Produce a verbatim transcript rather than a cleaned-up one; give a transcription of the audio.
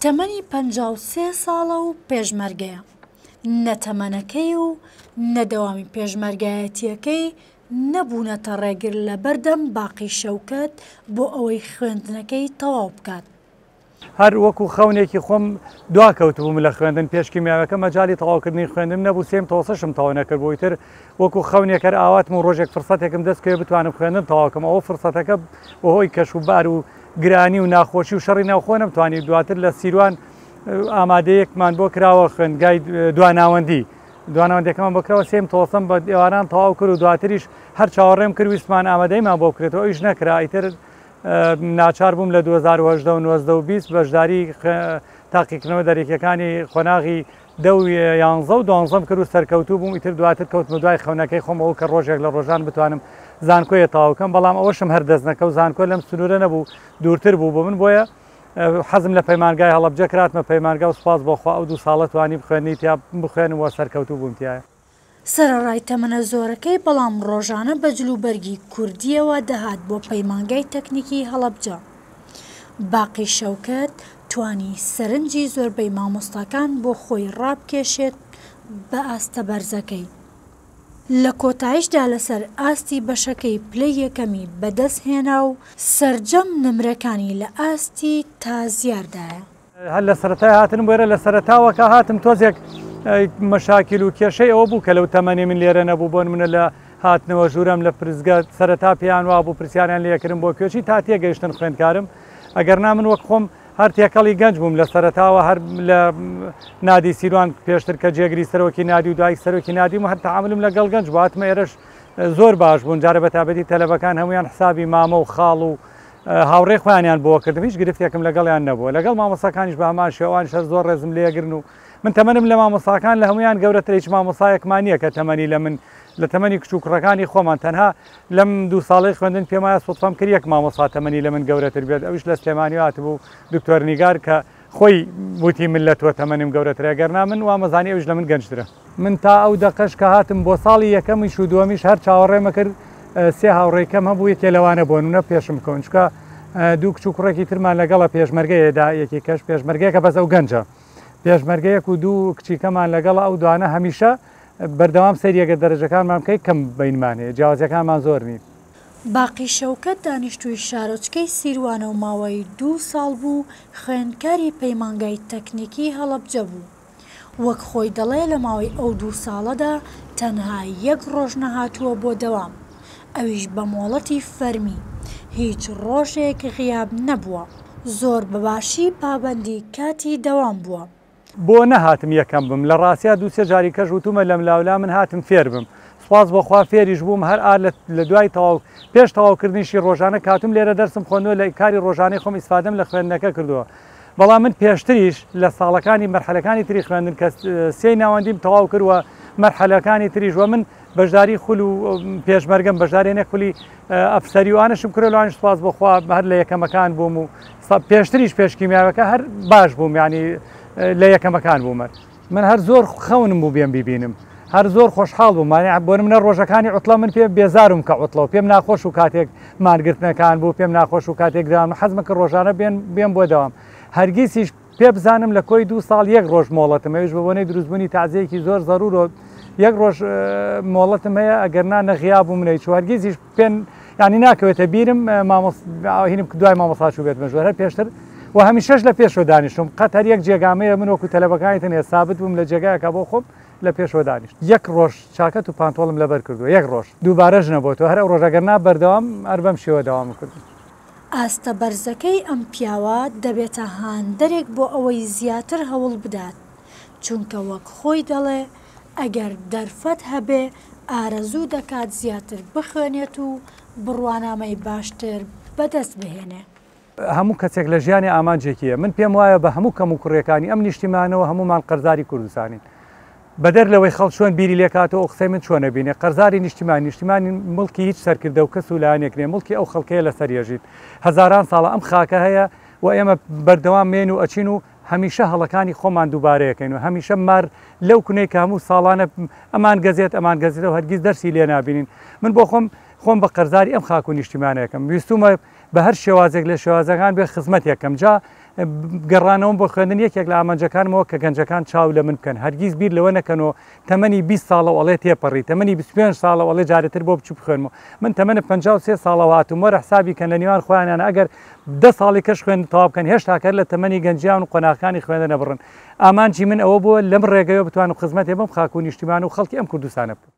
تەمەنی پەنجا و سێ ساڵە و پێشمەرگەیە. نە تەمەنەکەی و نە دەوامی پێشمەرگایەتیەکەی نەبوونەتە ڕێگر لە بەردەم باقی شەوکەت بۆ ئەوەی خوێندنەکەی تەواو بکات. هەر وەکو خەونێکی خۆم دوا کەوتبووم لە خوێندن پێش کیمیاوەکە مەجالی تەواوکردنی خوێندم نەبوو، سێم تەوەسەشم تەواو نەکرد بۆ ئیتر وەکو خەونێک هەر ئاواتم و ڕۆژێک فرسەتێکم دەست کەوێ بتوانم خوێندن تەواوکەم. ئەوە فرسەتەکە بەهۆی کەش و بار و گرانی و ناخۆشی و شەڕی ناوخۆ نەمتوانی. دواتر لە سیروان ئامادەیەکمان بۆ کراوە خوێندگای دواناوەندی، دواناوەندەکەمان بۆ کراوە، سێم تەوەسەم بە ئێواران تەواو کرد و دواتریش هەر چاوەڕێم کرد ویستمان ئامادەیمان بۆ بکرێتەوە، ئەویش نەکرا. ئیتر ناچار بووم لە دوو هەزار و هەژدە و نۆزدە و بیست بەشداری تاقیکردنەوە دەرەکیەکانی قۆناغی دە و یانزە و دوانزەم کرد و سەرکەوتوو بووم. ئیتر دواتر کەوتمە دوای خەونەکەی خۆم ئەوە کە ڕۆژێک لە ڕۆژان بتوانم زانکۆیە تەواوکەم، بەڵام ئەوەشم هەر دەست نەکەوت. زانکۆ لەم سنوورە نەبوو، دوورتر بوو بۆ من، بۆیە حەزم لە پەیمانگای هەڵەبجە کراتمە پەیمانگا و سوپاس بۆ خوا ئەو دوو ساڵە توانی بخوێنی تیا بخوێنم و سەرکەوتوو بووم تیایە. سەرەڕای تەمەنە زۆرەکەی بەڵام ڕۆژانە بە جلوبەرگی کوردیەوە دەهات بۆ پەیمانگای تەکنیکی هەڵەبجە. باقی شەوکەت توانی سەرنجی زۆربەی مامۆستاکان بۆ خۆی ڕابکێشێت بە ئاستە بەرزەکەی. لە کۆتاییشدا لەسەر ئاستی بەشەکەی پلەی یەکەمی بەدەست هێنا و سەرجەم نمرەکانی لە ئاستی تازیاردایە. هەر لە سەرەتای هاتنم بۆ ئێرە، لە سەرەتاوە کە هاتم تۆزێک مەشاکیل و کێشەی ئەوە بوو کە لەو تەمەنی من لێرە نەبوو. بۆ نمونە لە هاتنەوە ژوورەم لە پرسگە سەرەتا پێیان وابوو پرسیاریان لێکردم بۆ کوێچی تا تێگەیشتن خوێندکارم، ئەگەر نا من وەک خۆم هەر تێکەڵی گەنج بووم لە سەرەتاوە، هەر لە نادی سیروان پێشتر کە جێگری سەرۆکی نادی و دوای سەرۆکی نادیم و هەر تەعاملم لەگەڵ گەنج بوو. هاتمە ئێرەش زۆر باش بوون، جارە بە تایبەتی تەلەبەکان هەمویان حسابی مامە و خاڵ و هاوڕێ خۆیانیان بۆ کردم، هیچ گرفتێکم لەگەڵیان نەبووە. لەگەڵ مامۆستاکانیش بە هەمان شێوانیش هەر زۆر ڕێزم لێگرن و من تەمەنم لە مامۆستاکان لە هەمویان گەورەتر، هیچ مامۆستایەکمان نییە کە تەمەنی لە من لە تەمەنی کچ و کوڕەکانی خۆمان. تەنها لەم دوو ساڵەی خوێندن پێم وایە سوتفەم کرد یەک مامۆستا تەمەنی لە من گەورەتر بێت، ئەویش لە سلێمانی هاتبوو دکتۆر نیگار کە خۆی وتی من لە تۆ تەمەنم گەورەترە، ئەگەرنا من وامەزانی ئەویش لە من گەنجترە. من تا ئەو دەقەش کە هاتم بۆ ساڵی یەکەمیش و دووەمیش هەر چاوەڕێمە کرد سێ هاوڕێکەم هەبوو، یەکێ لەوانە بۆ نمونە پێشم بکەون، چونکە دوو کچ و کوڕێکی ترمان لەگەڵە پێشمەرگەیەدا، یەکی کەش پێشمەرگەیەکە بەس ئەو گەنجە پێشمەرگەیەک و دوو کچیکەمان لەگەڵ ئەو دوانە هەمیشە بەردەوام سەیریەکە دەرەجەکانمان بکەیت کەم بینمان هەیە، جیاوازیەکانمان زۆر نین. باقی شەوکەت دانیشتووی شارۆچکەی سیروانە و ماوەی دوو ساڵ بوو خوێندکاری پەیمانگای تەکنیکی هەڵەبجە بوو. وەک خۆی دەڵێ لە ماوەی ئەو دوو ساڵەدا تەنها یەک ڕۆژ نەهاتووە بۆ دەوام، ئەویش بە مۆڵەتی فەرمی، هیچ ڕۆژێک غیاب نەبووە، زۆر بەباشی پابەندی کاتی دەوام بووە. بۆ نەهاتم یەکەم بم، لە ڕاستیا دوو سێ جاری کەش وتومە لەم لاولا من هاتم فێر بم، سوپاس بۆ خوا فێریش بووم. هەر ئار لە دوای تەواو پێش تەواوکردنیشی ڕۆژانە کاتم لێرە دەرسم خوێندووە، لە کاری ڕۆژانەی خۆم ئیسفادەم لە خوێندنەکە کردووە. بەڵام من پێشتریش لە ساڵەکانی مەرحەلەکانی تری خوێندن کە سێی ناوەندیم تەواو کردووە مەرحەلەکانی تریش وە من بەشداری خول و پێشمەرگەم بەشداری نەک خولی ئەفسەری و ئانەشم کردووە، لەوانیش سوپاس بۆ خوا هەر لە یەکەمەکان بووم و پێشتریش پێش کیمیاوەکە هەر باش بووم، یعنی لە یەکەمەکان بووم. من هەر زۆر خەونم بوو بێم بیبینم، هەر زۆر خۆشحاڵ بووم. یعنی بۆ منە ڕۆژەکانی عوتڵە من پێم بێزارم کە عوتڵە و پێم ناخۆش و کاتێک مانگرتنەکان بوو، پێم ناخۆش و کاتێک داوام حەزمە کە ڕۆژانە بێم بۆ داوام. هەرگیزیش پێ بزانم لە کۆی دوو ساڵ یەک ڕۆژ مۆڵەتم، ئەویش بە بۆنەی دروستبوونی تازەیەکی زۆر زەرور و یەک ڕۆژ مۆڵەتم هەیە، ئەگەر نا نەغیا بووم نەیچوو. هەرگیزیش پێن یعنی ناکەوێتە بیرم هینم دوای مامۆستا چوو بێتمە ژوور، هەر پێشتر و هەمیشەش لە پێشەوە دانیشتم. قەت هەر یەک جێگامەیە من وەکو تەلەبەکانی تنێ سابت بووم لە جێگایەکە بۆ خۆم لە پێشەوە دانیشت. یەک ڕۆژ چاکەت و پانتۆڵم لەبەر کردووە، یەک ڕۆژ دووبارەش نەبۆتەوە. هەر ئەو ڕۆژ ئەگەر نا بەردەوام هەر بەم شێوە دەوام کردم. ئاستە بەرزەکەی ئەم پیاوە دەبێتە هاندەرێک بۆ ئەوەی زیاتر هەوڵ بدات، چونکە وەک خۆی دەڵێ ئەگەر دەرفەت هەبێ ئارەزوو دەکات زیاتر بخوێنێت و بڕوانامەی باشتر بەدەست بهێنێ. هەموو کەسێک لە ژیانی ئامانجێکیە. من پێم وایە بە هەموو کەم و کوڕیەکانی ئەم نیشتیمانەوە هەمومان قەرزاری کوردستانین، بەدەر لەوەی خەڵک چۆن بیری لێکاتەوە و قسەی من چۆنە بینێ. قەرزاری نیشتیمان، نیشتیمانی مڵکی هیچ سەرکردە و کەس و لایەنێک نییە، مڵکی ئەو خەڵکەیە لەسەر یەژیت. هەزاران ساڵە ئەم خاکە هەیە و ئێمە بەردەوام مێن و ئەچین و هەمیشە هەڵەکانی خۆمان دووبارەیەکەین و هەمیشە مار لەو کونەی کە هەموو ساڵانە ئەمان گەزێت ئەمان گەزێتەوە هەرگیز دەرسی لێ نابینین. من بۆ خۆم خۆم بە قەرزاری ئەم خاک و نیشتیمانەکەم، ویستومە بە هەر شێوازێک لە شێوازەکان بێ خزمەتێکم. جا گەڕانەوەم بۆ خوێندن یەکێک لە ئامانجەکانمەوە کە گەنجەکان چاو لە من بکەن، هەرگیز بیر لەوە نەکەنەوە تەمەنی بیست ساڵەوە ئەڵێ تێپەڕی، تەمەنی بیست و پێنج ساڵەوە ئەڵێ جارێتر بۆ بچوو بخوێنمەوە. من تەمەنە پەنجا و سێ ساڵەوە هاتووم، وەرە حسابی کەن لە نێوان خۆیانیان ئەگەر دە ساڵی کەش خوێندن تەواو بکەن هێشتا کەر لە تەمەنی گەنجیان و قۆناغەکانی خوێندن نەبڕن. ئامانجی من ئەوە بووە لەم ڕێگەیەوە بتوانم خزمەتێ بم خاک و نیشتیمان و خەڵکی ئەم کوردستانە بکەم.